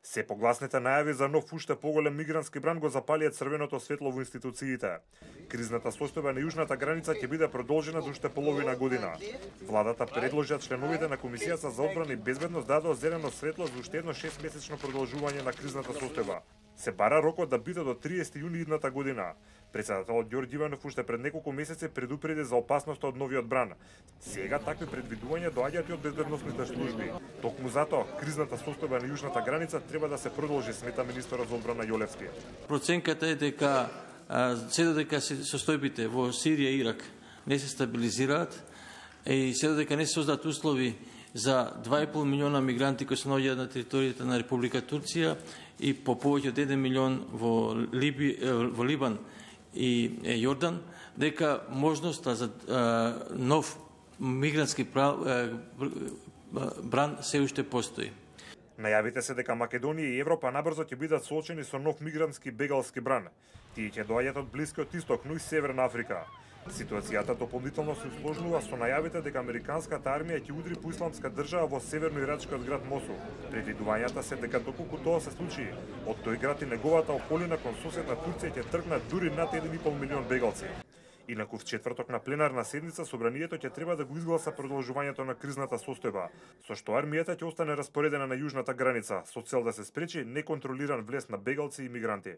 Се погласните најави за нов уште поголем мигрантски бран го запалија црвеното светло во институциите. Кризната состојба на јужната граница ќе биде продолжена до уште половина година. Владата предложи членовите на Комисијата за одбрана и безбедност дадоа зелено светло за уште едно 6-месечно продолжување на кризната состојба. Се бара рокот да биде до 30 јуни идната година. Претседателот Ѓорѓе Иванов уште пред неколку месеци предупреди за опасноста од новиот бран. Сега такви предвидувања доаѓаат и од безбедносните служби. Токму затоа кризната состојба на јужната граница треба да се продолжи, смета министерот за одбрана Јолевски. Проценката е дека се додека состојбите во Сирија и Ирак не се стабилизираат и се додека не се создадат услови за 2,5 милиона мигранти кои се наоѓаат на територијата на Република Турција и по повеќе од 1 милион во Либан и Јордан, дека можноста за нов мигрантски бран се уште постои. Најавите се дека Македонија и Европа набрзо ќе бидат соочени со нов мигрантски бегалски бран. Тие ќе доаѓаат од Блискиот Исток, но и Северна Африка. Ситуацијата дополнително се усложнува со најавите дека американската армија ќе удри по исламска држава во северно-ирачкиот град Мосул. Предвидувањата се дека доколку тоа се случи, од тој град и неговата околина кон соседна Турција ќе тргнат дури над 1,5 милион бегалци. Инаку в четврток на пленарна седница собранието ќе треба да го изгласа продолжувањето на кризната состојба, со што армијата ќе остане распоредена на јужната граница со цел да се спречи неконтролиран влез на бегалци и мигранти.